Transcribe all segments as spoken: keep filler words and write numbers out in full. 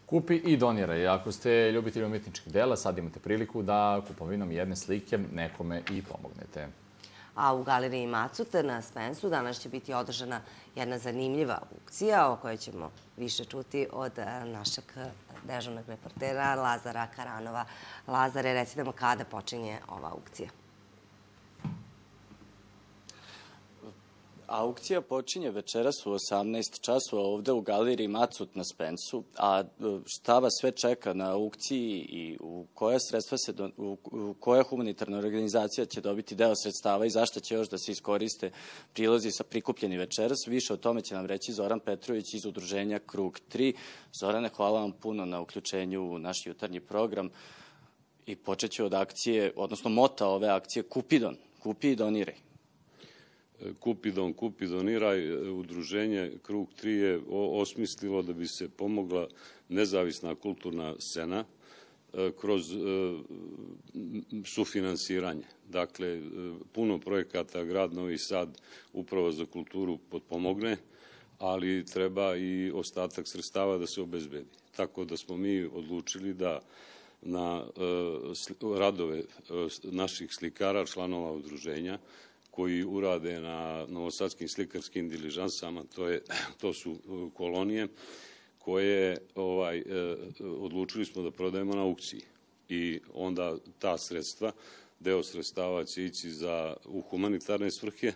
Kupi i doniraj. Ako ste ljubitelji umjetničkih dela, sad imate priliku da kupovinom jedne slike nekome i pomognete. A u galeriji Macut na Spensu danas će biti održana jedna zanimljiva aukcija o kojoj ćemo više čuti od našeg dežurnog reportera Lazara Karanova. Lazare, reci nam kada počinje ova aukcija? Aukcija počinje večeras u osamnaest časova ovde u galeriji Macut na Spensu, a šta vas sve čeka na aukciji i u koja sredstva se, u koja humanitarna organizacija će dobiti deo sredstava i zašto će još da se iskoriste prilozi sa prikupljeni večeras, više o tome će nam reći Zoran Petrović iz udruženja Krug tri. Zorane, hvala vam puno na uključenju u naš jutarnji program i počet ću od akcije, odnosno mota ove akcije Kupidon, kupi i doniraj. Kupidon, kupi, doniraj, udruženje Krug tri je osmislilo da bi se pomogla nezavisna kulturna scena kroz sufinansiranje. Dakle, puno projekata grad Novi Sad upravo za kulturu potpomogne, ali treba i ostatak sredstava da se obezbedi. Tako da smo mi odlučili da na radove naših slikara, članova udruženja, koji urade na novosadskim slikarskim diližansama, to, je, to su kolonije koje ovaj, odlučili smo da prodajemo na aukciji. I onda ta sredstva, deo sredstava će ići za, u humanitarne svrhe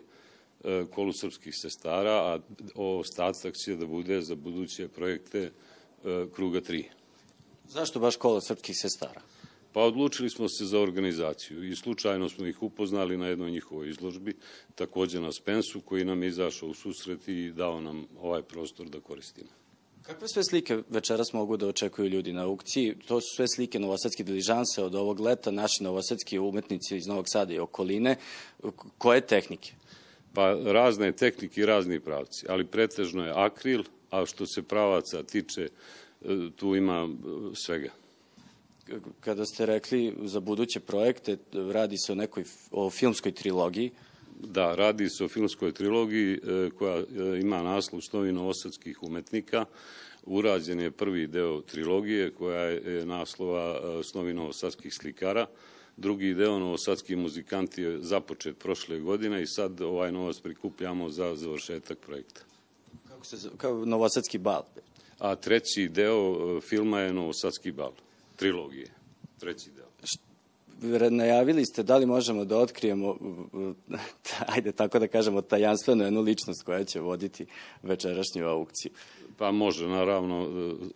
kolu srpskih sestara, a ostatak će da bude za buduće projekte Kruga tri. Zašto baš kolo srpskih sestara? Pa odlučili smo se za organizaciju i slučajno smo ih upoznali na jednoj njihovoj izložbi, također na Spensu, koji nam je izašao u susret i dao nam ovaj prostor da koristimo. Kakve sve slike večeras mogu da očekuju ljudi na aukciji? To su sve slike novosadske diližanse od ovog leta, naši novosadski umetnici iz Novog Sada i okoline. Koje tehnike? Pa razne tehnike i razni pravci, ali pretežno je akril, a što se pravaca tiče, tu ima svega. Kada ste rekli za buduće projekte, radi se o nekoj o filmskoj trilogiji. Da, radi se o filmskoj trilogiji koja ima naslov Snovi novosadskih umetnika. Urađen je prvi deo trilogije koja je naslova Snovi novosadskih slikara. Drugi deo Novosadski muzikanti je započet prošle godine i sad ovaj novac prikupljamo za završetak projekta. Kako se zove? Kao Novosadski bal. A treći deo filma je Novosadski bal. Trilogije, treći deo. Najavili ste da li možemo da otkrijemo, ajde tako da kažemo, tajanstvenu jednu ličnost koja će voditi večerašnju aukciju. Pa može, naravno,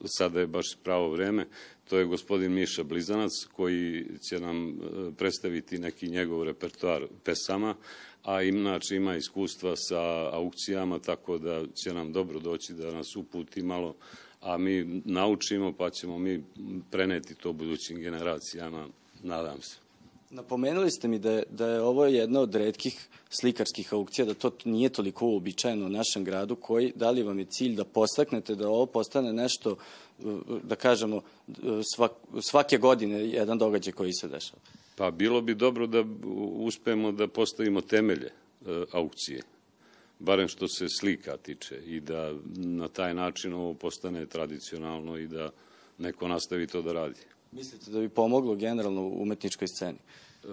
sada je baš pravo vreme. To je gospodin Miša Blizanac koji će nam predstaviti neki njegov repertoar pesama, a inače ima iskustva sa aukcijama, tako da će nam dobro doći da nas uputi malo, a mi naučimo pa ćemo mi preneti to budućim generacijama, nadam se. Napomenuli ste mi da je, da je ovo jedna od retkih slikarskih aukcija, da to nije toliko uobičajeno u našem gradu, koji, da li vam je cilj da postaknete da ovo postane nešto, da kažemo, svak, svake godine jedan događaj koji se dešava? Pa bilo bi dobro da uspemo da postavimo temelje aukcije, barem što se slika tiče, i da na taj način ovo postane tradicionalno i da neko nastavi to da radi. Mislite da bi pomoglo generalno u umetničkoj sceni? E,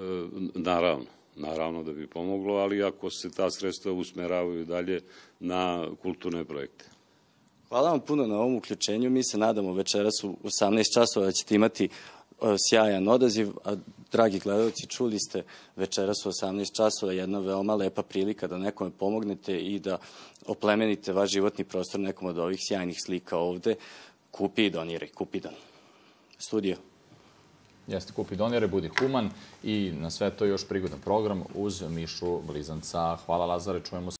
naravno, naravno da bi pomoglo, ali ako se ta sredstva usmeravaju dalje na kulturne projekte. Hvala vam puno na ovom uključenju. Mi se nadamo večeras u osamnaest časova da ćete imati sjajan odaziv, a dragi gledalci, čuli ste večeras u osamnaest časova jedna veoma lepa prilika da nekome pomognete i da oplemenite vaš životni prostor nekom od ovih sjajnih slika ovde. Kupi i doniraj, Kupidon. Studio. Jeste, kupi, doniraj, budi human i na sve to još prigodan program uz Mišu Blizanca. Hvala, Lazare, čujemo se.